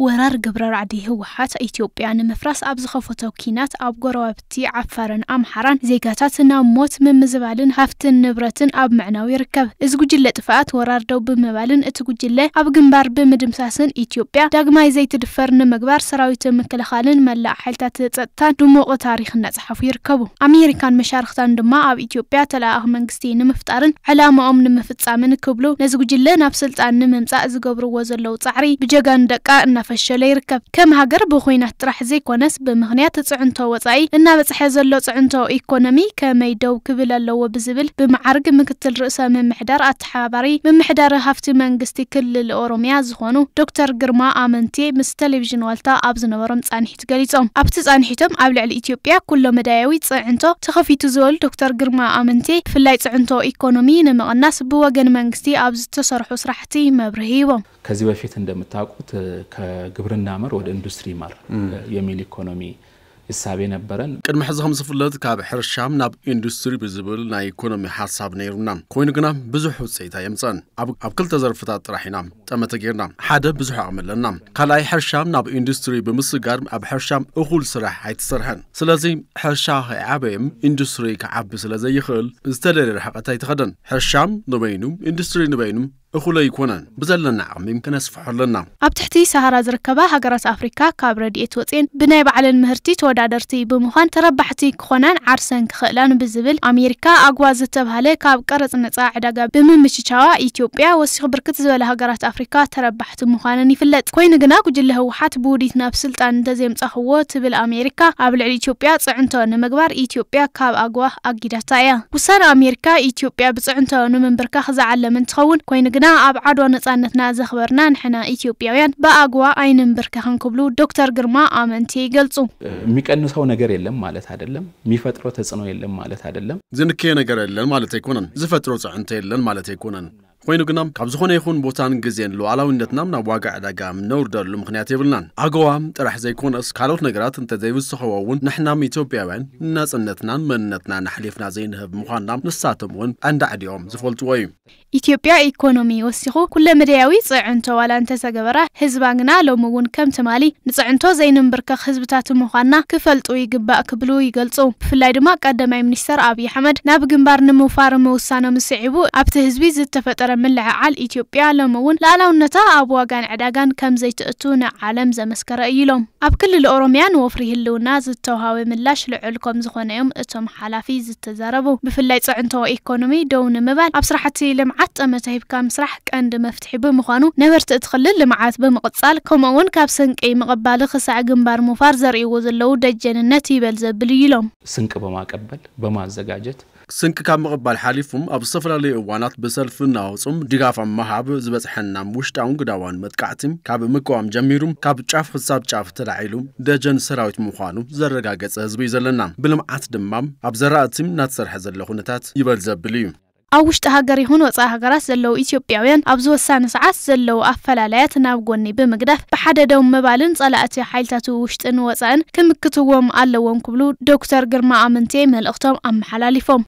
ወራር ግብረ ራዕዲ ህወሓት ኢትዮጵያ ንምፍራስ ኣብ ዝኸፈቶ ኲናት ኣብ ጎረባብቲ ዓፋርን ኣምሓራን ዜጋታት ናብ ሞት፣ ምምዝባልን ሃፍትን ንብረትን ኣብ ምዕናው ይርከብ። እዚ ጉጅለ ጥፍኣት ወራር ደው ብምባልን እቲ ጉጅለ ኣብ ግንባር ብምድምሳስን ኢትዮጵያ ዳግማይ ዘይትድፈር ንምግባር ሰራዊት ምክልኻልን መላእ ሓይልታት ጸጥታን ድሙቕ ታሪኽ እናጸሓፉ ይርከቡ። ኣሜሪካን መሻርኽታን ድማ ኣብ ኢትዮጵያ ተለኣኣኺ መንግስቲ ንምፍጣርን ዕላማኦም ንምፍጻምን ክብሉ ነዚ ጉጅለ ናብ ስልጣን ንምምጻእ ዝገብርዎ ዘለዉ ጻዕሪ ብጀጋኑ ደቃ እናፈሸለ ይርከብ። ከም ሃገር ብኹናት ጥራሕ ዘይኮነስ ብምኽንያት ጽዕንቶ ወጻኢ እናበጽሐ ዘሎ ጽዕንቶ ኢኮኖሚ ከመይ ደው ክብል ኣለዎ ብዝብል ብመዓርግ ምክትል ርእሰ ምምሕዳር ኣተሓባባሪ ምምሕዳር ሃፍቲ መንግስቲ ክልል ኦሮሚያ ዝኾኑ ዶክተር ግርማ ኣመንቴ ምስ ቴሌቪዥን ዋልታ ኣብ ዝነበሮም ጻንሒት ገሊጾም። ኣብቲ ጻንሒቶም ኣብ ልዕሊ ኢትዮጵያ ኩሎ መዳያዊ ጽዕንቶ ተኸፊቱ ዝበሉ ዶክተር ግርማ ኣመንቴ ብፍላይ ጽዕንቶ ኢኮኖሚ ንምቕናስ ብወገን መንግስቲ ኣብ ዝተሰርሑ ስራሕቲ መብርሂ ሂቦም። ከዚህ በፊት እንደምታውቁት ከግብርና መር ወደ ኢንዱስትሪ መር የሚል ኢኮኖሚ እሳቤ ነበረን። ቅድሚ ሕዚ ከም ዝፍለጥ ካብ ሕርሻ ናብ ኢንዱስትሪ ብዝብል ናይ ኢኮኖሚ ሓሳብ ነይሩና። ኮይኑ ግና ብዙሕ ውፅኢት ኣየምፀን። ኣብ ኣብ ክልተ ዘርፍታት ጥራሕ ኢና ጠመተ ጌርና። ሓደ ብዙሕ ዓቕሚ ኣለና። ካልኣይ ሕርሻ ናብ ኢንዱስትሪ ብምስጋር ኣብ ሕርሻ እኹል ስራሕ ኣይተሰርሐን። ስለዚ ሕርሻ ከይዓበየ ኢንዱስትሪ ክዓቢ ስለ ዘይኽእል ዝተደለየ ርሕቀት ኣይተኸደን። ሕርሻ ንበይኑ ኢንዱስትሪ ንበይኑ እኹል ኣይኮነን። ብዘለና ዓቕሚ ክነስፍሖ ኣለና። ኣብ ትሕቲ ሰሃራ ዝርከባ ሃገራት ኣፍሪካ ካብ ረድኤት ወፅኤን ብናይ ባዕለን ምህርቲ ተወዳደርቲ ብምዃን ተረባሕቲ ክኾናን ዓርሰን ክኽእላን ብዝብል ኣሜሪካ ኣግዋ ዝተብሃለ ካብ ቀረፅ ነፃ ዕዳጋ ብምምችቻዋ ኢትዮጵያ ወሲኹ ብርክት ዝበለ ሃገራት ኣፍሪካ ተረባሕቲ ምዃነን ይፍለጥ። ኮይኑ ግና ጉጅለ ህወሓት ብውዲት ናብ ስልጣን እንተዘይምፃኽዎ ትብል ኣሜሪካ ኣብ ልዕሊ ኢትዮጵያ ፅዕንቶ ንምግባር ኢትዮጵያ ካብ ኣግዋ ኣጊዳታ እያ። ውሳነ ኣሜሪካ ኢትዮጵያ ብፅዕንቶ ንምንብርካኽ ዝዓለመ እንትኸውን፣ ኮይኑ ግና ኣብ ዓድዋ ነፃነትና ዘኽበርና ንሕና ኢትዮጵያውያን ብኣግዋ ኣይንንብርከኽን ክብሉ ዶክተር ግርማ ኣመንቲ ይገልጹ። የሚቀንሰው ነገር የለም ማለት አይደለም፣ የሚፈጥረው ተጽዕኖ የለም ማለት አይደለም። ዝንከየ ነገር የለን ማለት ኣይኮነን፣ ዝፈጥሮ ፅዕንቶ የለን ማለት ኣይኮነን። ኮይኑ ግና ካብ ዝኾነ ይኹን ቦታን ግዜን ሉዓላዊነትና ናብ ዋጋ ዕዳጋ ምነውርደሉ ምኽንያት የብልናን። ኣገዋ ጥራሕ ዘይኮነስ ካልኦት ነገራት እንተዘይውስኸዎ እውን ንሕናም ኢትዮጵያውያን ናፅነትናን መንነትናን ኣሕሊፍና ዘይንህብ ምዃንና ንሳቶም እውን ኣንዳዕዲኦም ዝፈልጥዎ እዩ። ኢትዮጵያ ኢኮኖሚ ወሲኹ ኩለመዳያዊ ፅዕንቶ ዋላ እንተተገበራ ህዝባ ግና ሎሚ እውን ከም ትማሊ ንፅዕንቶ ዘይንንብርከኽ ህዝብታት ምዃንና ክፈልጡ ይግባእ ክብሉ ይገልፁ። ብፍላይ ድማ ቀዳማይ ሚኒስተር ኣብይ ኣሕመድ ናብ ግንባር ንምውፋር ምውሳኖም ስዒቡ ኣብቲ ህዝቢ ዝተፈጠረ ምልዕዓል ኢትዮጵያ ሎሚ እውን ሉዓላውነታ ኣብ ዋጋን ዕዳጋን ከም ዘይትእቱ ንዓለም ዘመስከረ እዩ ኢሎም። ኣብ ክልል ኦሮሚያ ንወፍሪ ህልውና ዝተውሃበ ምላሽ ልዑል ከም ዝኾነ እዮም እቶም ሓላፊ ዝተዛረቡ። ብፍላይ ፅዕንቶ ኢኮኖሚ ደው ንምባል ኣብ ስራሕቲ ልምዓት ጠመተ ሂብካ ምስራሕ ቀንዲ መፍትሒ ብምዃኑ ነበርቲ እቲ ክልል ልምዓት ብምቕፃል ከምኡ እውን ካብ ስንቂ ምቕባል ክሳዕ ግንባር ምውፋር ዘርእይዎ ዘለዉ ደጀንነት ይበል ዘብል እዩ ኢሎም። ስንቅ በማቀበል በማዘጋጀት ስንቂ ካብ ምቕባል ሓሊፉም ኣብ ዝተፈላለዩ እዋናት ብሰልፊ እናወፁም ድጋፍ ኣብ ምሃብ ዝበፅሐና ውሽጣውን ግዳዋን መጥቃዕቲ ካብ ምቅዋም ጀሚሩ ካብ ጫፍ ክሳብ ጫፍ ተላዒሉ ደጀን ሰራዊት ምዃኑ ዘረጋገፀ ህዝቢ እዩ ዘለና። ብልምዓት ድማ ኣብ ዘራእቲ እናተሰርሐ ዘሎ ኩነታት ይበል ዘብል እዩ። ኣብ ውሽጢ ሃገር ይኹን ወፃኢ ሃገራት ዘለዉ ኢትዮጵያውያን ኣብዚ ወሳኒ ሰዓት ዘለዉ ኣፈላላያት ናብ ጎኒ ብምግዳፍ ብሓደ ደው ምባልን ፀላእቲ ሓይልታት ውሽጥን ወፃእን ክምክትዎም ኣለዎም ክብሉ ዶክተር ግርማ ኣመንቴ መልእኽቶም ኣመሓላሊፎም።